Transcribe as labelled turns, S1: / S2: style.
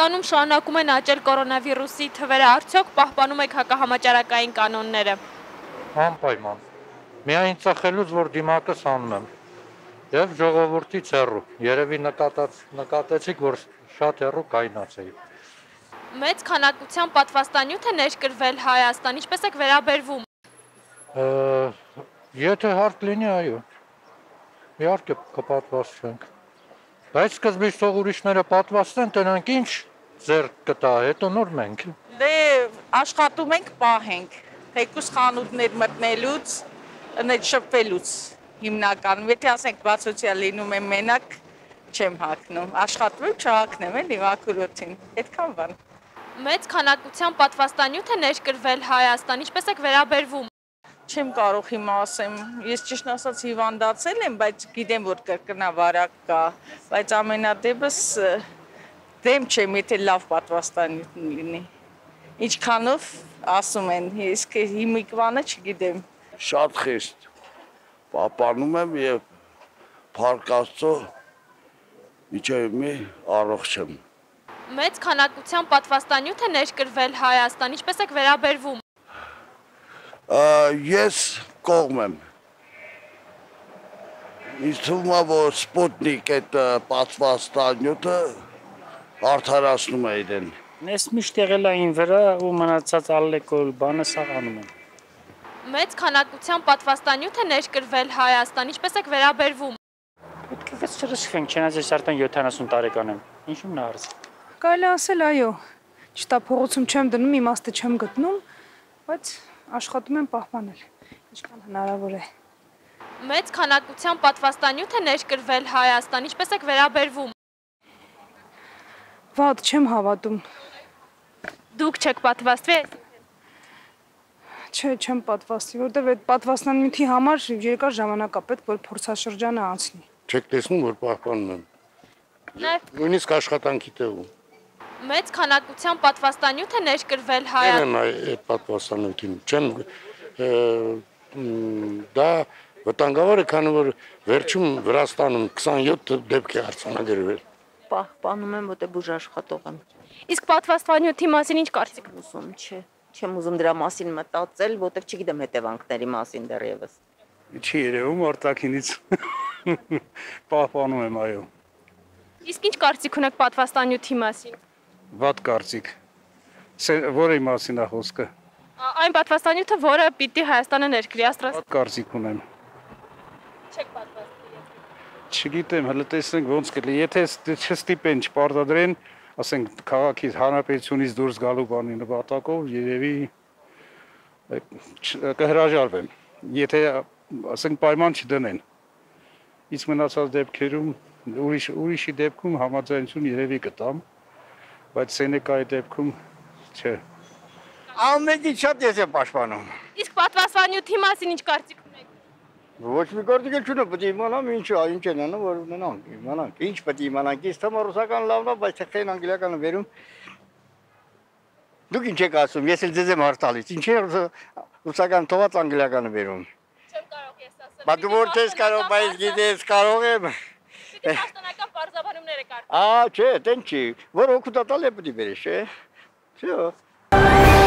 S1: Պատվաստանում շարունակում են աճել կորոնավիրուսի թվերը, արդյոք պահպանում եք հակահամաճարակային կանոնները։
S2: Անպայման։ Միայն ծխելուց, որ դիմակս անում եմ։ Եվ ժողովրդից հեռու։ Երևի նկատեցիք, որ շատ հեռու կայնացեի։
S1: Մեծ քանակությամբ պատվաստանյութ է ներկրվել Հայաստան, ինչպես եք վերաբերվում։
S2: Եթե հարկ լինի, այո։ Իհարկե կպատվաստվենք։ Բայց սկզբից թող ուրիշները պատվաստեն, տնանք ինչ ձեռք կտա, հետո նոր մենք։
S3: Դե աշխատում ենք, պահենք, թեկուզ խանութներ մտնելուց, շփվելուց հիմնականում, եթե ասենք բացօթյա լինում եմ մենակ, չեմ հագնում, աշխատում չհագնեմ էլի մաքրոցին, այդքան բան։
S1: Մեծ քանակությամբ պատվաստանյութ է ներկրվել Հայաստան, ինչպես եք վերաբերվում։
S3: Չեմ կարող հիմա ասեմ, ես ճիշտ ասած հիվանդացել եմ, բայց գիտեմ, որ կրկնավարակ կա, բայց ամենադեպս դեմ չեմ, եթե լավ պատվաստանյութ լինի։ Ինչքանով ասում են, իսկ հիմիկվանը չգիտեմ։
S4: Շատ խիստ պահպանում եմ եւ Փառք Աստծո իջև մի առողջ եմ։
S1: Մեծ քանակությամբ պատվաստանյութ է ներկրվել Հայաստան, ինչպես եք վերաբերվում։
S4: Ես կողմ եմ։ Ինձ թվում է, որ Սպուտնիկ այդ պատվաստանյութը արդարացնում է իրեն։
S5: Ես միշտ եղել այն վրա ու մնացած ալեկոհոլ բանը սաղ անում եմ։
S1: Մեծ քանակությամբ պատվաստանյութ է ներկրվել Հայաստան, ինչպես եք վերաբերվում։
S5: Պետք է չրսխենք, չնայած ես արդեն 70 տարեկան եմ։ Ինչու՞մ նա հարց։
S6: Կարելի ասել այո։ Ճիշտ է, փողոցում չեմ դնում, իմաստը չեմ գտնում, բայց աշխատում եմ պահպանել, ինչքան հնարավոր է։
S1: Մեծ քանակությամբ պատվաստանյութ է ներկրվել Հայաստան, ինչպես եք վերաբերվում։
S6: Վատ չեմ հավատում։
S1: Դուք չեք պատվաստվել։
S6: Չէ, չեմ պատվաստի, որտեղ այդ պատվաստանյութի համար երկար ժամանակ է պետք, որ փորձաշրջանը անցնի։
S4: Չեք տեսնում, որ պահպանում եմ։ Նույնիսկ աշխատանքի տեղում։
S1: Մեծ քանակությամբ պատվաստանյութ է ներկրվել Հայաստան։
S4: Այդ պատվաստանյութին չեմ դա վտանգավոր է, քանի որ վերջում Վրաստանում 27 դեպք է արձանագրվել։
S7: Պահպանում եմ, որտեղ բուժ աշխատող եմ։
S1: Իսկ պատվաստանյութի մասին ինչ կարծիք եք։
S7: Ուզում չէ։ Չեմ ուզում դրա մասին մտածել, որտեղ չգիտեմ հետևանքների մասին դեռևս։
S5: Չի երևում արտաքինից պահպանում եմ, այո։
S1: Իսկ ինչ կարծիք ունեք պատվաստանյութի մասին։
S5: Վատ կարծիք։ Որի մասին է խոսքը։
S1: Այն պատվաստանյութը, որը պիտի Հայաստանը ներկրի աստրաս։
S5: Վատ կարծիք ունեմ։
S1: Չեք պատվաստի։
S5: Չգիտեմ, հələ տեսնենք ոնց կլինի։ Եթե չստիպեն, չպարտադրեն, ասենք քաղաքից հանրապետությունից դուրս գալու բանի նպատակով, երևի կհրաժարվեմ։ Եթե ասենք պայման չդնեն։ Իսկ մնացած դեպքերում ուրիշի դեպքում համաձայնություն երևի կտամ, բայց Սենեկայի դեպքում չէ։
S8: Ամենից շատ ես եմ պաշտպանում։
S1: Իսկ պատվաստանյութի մասին ինչ կարծիք ունեք։
S8: Ոչ մի կարծիք չունեմ, պետք է իմանամ ինչ են անում, որ ունենանք, իմանանք։ Ինչ պետք է իմանանք, ինձ թվում է ռուսական լավն է, բայց թեքեն անգլիականը վերում։ Դուք ինչ եք ասում, ես էլ ձեզ եմ հարցալից, ինչ է ռուսական թողած անգլիականը վերում։
S1: Չեմ կարող ես ասել։
S8: Բա դու որ չես կարող, բայց գիտես կարող եմ։
S1: Պիտի պաշտոնական բարձաբանումները կարծես։
S8: Չէ, տեն չի, որ օգուտատալ է պետք է բերես, չէ։ Всё։